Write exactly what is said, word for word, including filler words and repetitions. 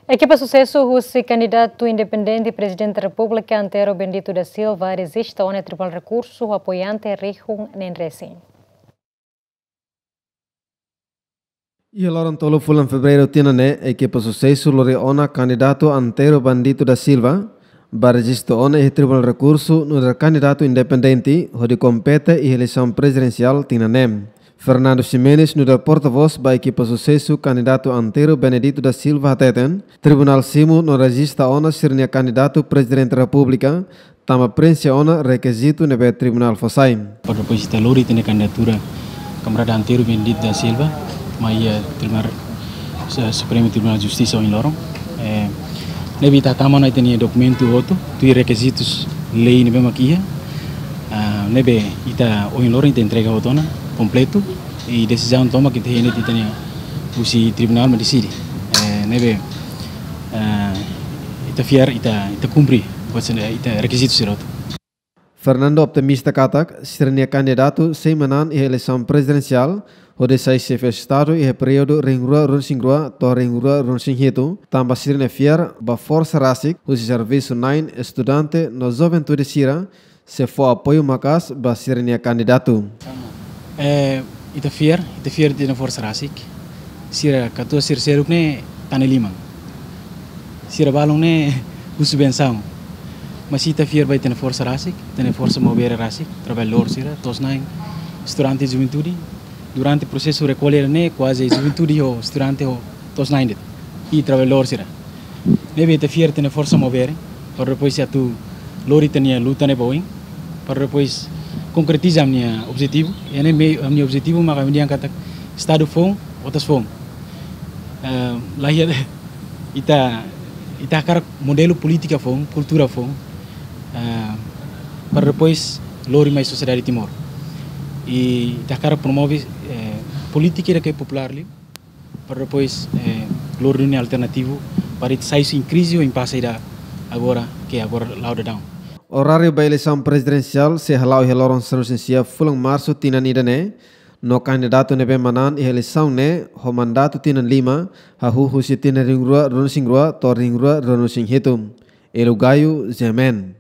Ekipa susesu husi kandidatu independente Prezidente Repúblika Antero Bendito da Silva rejista ona iha Tribunál Rekursu ho apoiante rihun neen resin. Iha loron tolu fulan Fevereiru tinan ne'e, ekipa susesu lori ona kandidatu Antero Bendito da Silva ba rejistu ona iha Tribunál Rekursu nu'udar kandidatu independente hodi kompete iha eleisaun prezidensiál tinan ne'e. Fernando Ximenes, nu'udar portavós ba ekipa susesu kandidatu Antero Bendito da Silva, hateten, tribunál simu no rejista ona sira-nia kandidatu Prezidente Repúblika, tanba preenxe ona rekizitu ne'ebé tribunál fó sai. Para depois ita lori ita-nia kandidatura kamarada Antero Bendito da Silva mai iha Tribunál, eh, Supremu Tribunál Justisa ohin loron. Eh, ne'ebé ita tama ona ita-nia dokumentu hotu, tuir rekizitus lei ne'ebé mak iha. Ah, ne'ebé ita ohin loron ita entrega hotu ona kompletu, i desizaun tomak ita hein de'it ita-nia husi tribunál mak deside. Eh, ne'ebé, eh, ita fiar, ita, ita kumpre, buat sira-ne'e, ita rekizitu sira hotu. Fernando optimista katak sira-nia kandidatu sei manán iha eleisaun prezidensiál hodi sai xefe Estadu iha períodu rihun rua ruanulu-resin-rua to'o rihun rua ruanulu-resin-hitu, tanba sira-nia fiar ba forsa rasik husi servisu na'in, estudante no juventude sira sei fó apoiu maka'as ba sira-nia kandidatu. Eh, ita fiar, ita fiar ita-nia forsa rasik. Sira katuas sira seluk ne'e tane liman. Sira balun ne'e husu bensaun. Mas ita fiar ba ita-nia forsa rasik, ita-nia forsa Maubere rasik, trabalhadór sira, to'os na'in, estudante, juventude. Durante prosesu rekolla ne'e kuaze juventude ho estudante ho to'os na'in de'it. I trabalhadór sira. Ne'ebé ita fiar ita-nia forsa Maubere, para depois atu lori ita-nia luta ne'e ba oin, para depois konkretiza ami-nia objetivu. I ami-nia, ami-nia objetivu mak ami dehan katak Estadu foun, otas foun. Eh, la iha, ita, ita hakarak modelu polítika foun, kultura foun, eh, para depois lori mai sosiedade Timor. I ita hakarak promove, eh, polítika ida ke populár liu, para depois, eh, lori duni alternativu para ita sai husi krize ou impase ida agora, ke agora la'o daudaun. Oráriu ba eleisaun prezidensiál sei hala'o iha loron sanulu-resin-sia fulan Marsu tinan ida-ne'e, no kandidatu ne'ebé manán iha eleisaun ne'e ho mandatu tinan lima, hahú husi tinan rihun rua ruanulu-resin-rua to'o rihun rua ruanulu-resin-hitu. Elu Gayo, G M N.